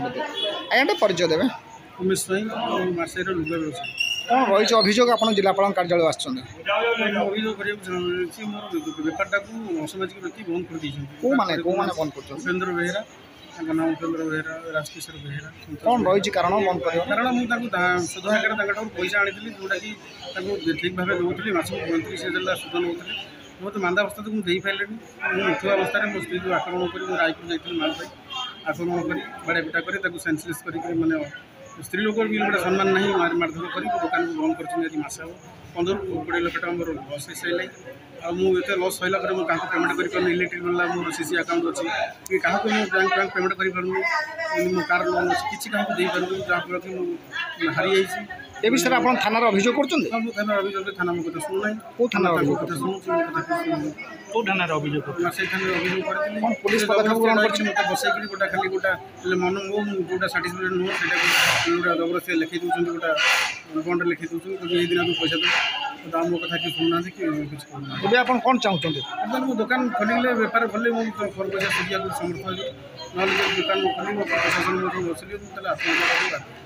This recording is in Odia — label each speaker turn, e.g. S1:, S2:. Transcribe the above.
S1: ଖଣ୍ଡିଦେବ। ଆଜ୍ଞା, ଟିକେ ପରିଚୟ ଦେବେ।
S2: ଉମେଶ ସ୍ୱାଇଁ, ମୁଁ ମାର୍ଶାଇର ଲୁଗା ବ୍ୟବସାୟୀ।
S1: କ'ଣ ରହିଛି ଅଭିଯୋଗ, ଆପଣ ଜିଲ୍ଲାପାଳଙ୍କ କାର୍ଯ୍ୟାଳୟ ଆସିଛନ୍ତି?
S2: ମୁଁ ଅଭିଯୋଗ କରିବାକୁ ଚାହୁଁଛି, ମୋର ବେପାରଟାକୁ ଅସାମାଜିକ ବ୍ୟକ୍ତି ବନ୍ଦ କରିଦେଇଛନ୍ତି।
S1: କେଉଁମାନେ ବନ୍ଦ କରୁଛନ୍ତି?
S2: ଉପେନ୍ଦ୍ର ବେହେରା, ତାଙ୍କ ନାମ ଉପେନ୍ଦ୍ର ବେହେରା, ରାଜକିଶୋର ବେହେରା।
S1: କ'ଣ ରହିଛି କାରଣ ବନ୍ଦ କରିବା?
S2: କାରଣ ମୁଁ ତାଙ୍କୁ ସୁଧ ଆକାରରେ ତାଙ୍କଠାରୁ ପଇସା ଆଣିଥିଲି, ଯେଉଁଟାକି ତାଙ୍କୁ ଠିକ୍ ଭାବେ ଦେଉଥିଲି। ମାସକୁ 35,000 ସୁଧ ନେଉଥିଲି। ବହୁତ ମାନ୍ଦା ଅବସ୍ଥାକୁ ମୁଁ ଦେଇପାରିଲିନି। ମୁଁ ଉଠିବା ଅବସ୍ଥାରେ ମୋ ସ୍ତ୍ରୀକୁ ଆକ୍ରମଣ କରି, ମୁଁ ରାୟପୁର ଯାଇଥିଲି ମାଲ ପାଇଁ, ଆକ୍ରମଣ କରି ବାଡ଼ିଆ ପିଟା କରି ତାକୁ ସେନ୍ସଲେସ୍ କରିକି, ମାନେ ସ୍ତ୍ରୀ ଲୋକର ବି ଗୋଟେ ସମ୍ମାନ ନାହିଁ, ମାରି ମାରଧର କରି ମୋ ଦୋକାନକୁ ବନ୍ଦ କରିଛନ୍ତି। ଆଜି ମାସେ ହେବ 15ରୁ 20 ଲକ୍ଷ ଟଙ୍କା ମୋର ଲସ୍ ହେଇସାରିଲାଣି। ଆଉ ମୁଁ ଏତେ ଲସ୍ ସରିଲା ପରେ ମୁଁ କାହାକୁ ପେମେଣ୍ଟ କରିପାରୁନି। ଇଲେକ୍ଟ୍ରିକ୍ ବିଲ୍ ମୋର ସି ଆକାଉଣ୍ଟ ଅଛି କି କାହାକୁ ମୁଁ ବ୍ୟାଙ୍କ ଫ୍ୟାଙ୍କ ପେମେଣ୍ଟ କରିପାରୁନି। ମୋ କାର୍ ଲୋନ୍ ଅଛି, କିଛି କାହାକୁ ଦେଇପାରୁନି, ଯାହାଫଳରେ କି ମୁଁ ହାରିଯାଇଛି।
S1: ଏ ବିଷୟରେ ଆପଣ ଥାନାରେ ଅଭିଯୋଗ କରୁଛନ୍ତି?
S2: ହଁ, ମୁଁ ଥାନାରେ ଅଭିଯୋଗ, ଥାନା ମୋ କଥା ଶୁଣୁନାହିଁ।
S1: କେଉଁ ଥାନାରେ
S2: ତାଙ୍କ
S1: ଅଭିଯୋଗ
S2: କଥା ଶୁଣୁଛି, ମୋ କଥା କିଛି ଶୁଣୁନି।
S3: କେଉଁ ଥାନାରେ ଅଭିଯୋଗ?
S2: ସେଇ ଥାନାରେ ଅଭିଯୋଗ କରିଥିଲି।
S1: କ'ଣ ପୋଲିସ ପଦକ୍ଷେପ ଗ୍ରହଣ କରିଛି?
S2: ମୋତେ ବସେଇକିରି ଗୋଟେ ଖାଲି ଗୋଟେ ହେଲେ ମନ ମୋ ଯେଉଁଟା ସାଟିସ୍ଫାଇଡ୍ ନୁହଁ, ସେଇଟାକୁ ଗୋଟେ ଜବରଦସ୍ତି ଲେଖେଇ ଦେଉଛନ୍ତି, ଗୋଟେ ବଣ୍ଡରେ ଲେଖେଇ ଦେଉଛନ୍ତି, କହୁଛନ୍ତି ଏଇ ଦିନ ପଇସା ଦେବୁ। ତ ମୋ କଥା କିଛି ଶୁଣୁନାହାନ୍ତି କି କିଛି କହୁନାହାନ୍ତି।
S1: ଏବେ ଆପଣ କ'ଣ ଚାହୁଁଛନ୍ତି?
S2: ବର୍ତ୍ତମାନ ମୁଁ ଦୋକାନ ଖୋଲିଲେ, ବେପାର ଖୋଲିଲେ ମୁଁ ପଇସା ସୁଝିବାକୁ ସମର୍ଥ ହେବି। ନହେଲେ ଯଦି ଦୋକାନ ମୁଁ ଖୋଲିବି, ପ୍ରଶାସନ ମୋ ବସିଲି, ମୁଁ ତାହେଲେ ଆତ୍ମହତ୍ୟା କରିବାକୁ ବାଧ୍ୟ।